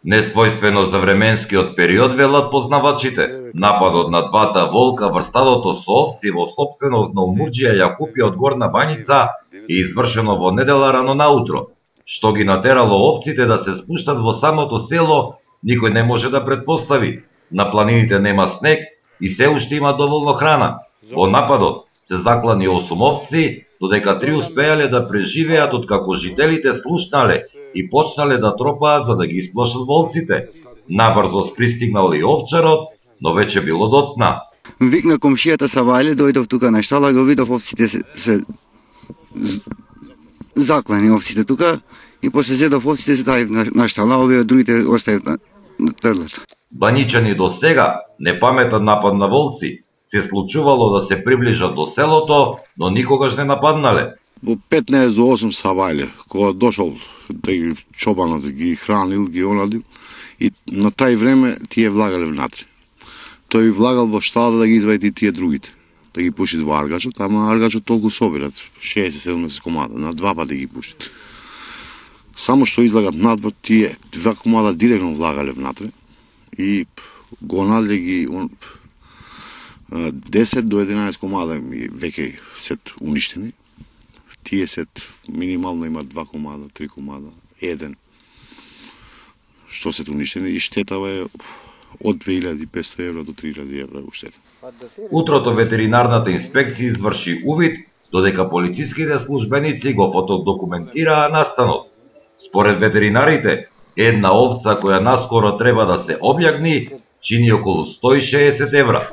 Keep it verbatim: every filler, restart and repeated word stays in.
Несвојствено за временскиот период, велат познавачите. Нападот на двата волка врз стадото со овци во сопственост на Омурџија Јакупија од Горна Баница е извршено во недела рано наутро. Што ги натерало овците да се спуштат во самото село, никој не може да претпостави. На планините нема снег и се уште има доволно храна. Во нападот се заклани осум овци, додека три успеале да преживеат откако жителите слушнале и почнале да тропаат за да ги исплашат волците. Набрзо пристигнал и овчарот, но веќе било доцна. Викна комшијата Савајле, дојдов тука на штала, го видов овците се, се заклани овците тука и после зедов овците се ставив на, на штала, овие другите оставив на, на трлата. Баничани до сега непаметен напад на волци. Се случувало да се приближат до селото, но никогаш не нападнале. Во петнаесет до осум Савајле, кога дошол да ги чобанот, да ги хранил, ги оладил, и на тај време тие влагале внатре. Тој влагал во штала да ги извади и тие другите, да ги пуши во аргачот, ама аргачот толку собират, шеесет седумдесет комада, на два пати ги пушат. Само што излагат надвор, тие два комада директно влагале внатре и гонале ги десет до единаесет комада веќе се уништени. Тие се минимално имат два комада, три комада, еден што се уништени и штетава е од две илјади и петстотини евра до три илјади евра уштета. Утрото ветеринарната инспекција изврши увид, додека полициските службеници го фотодокументираа настанот. Според ветеринарите, една овца која наскоро треба да се објагни, чини околу сто и шеесет евра.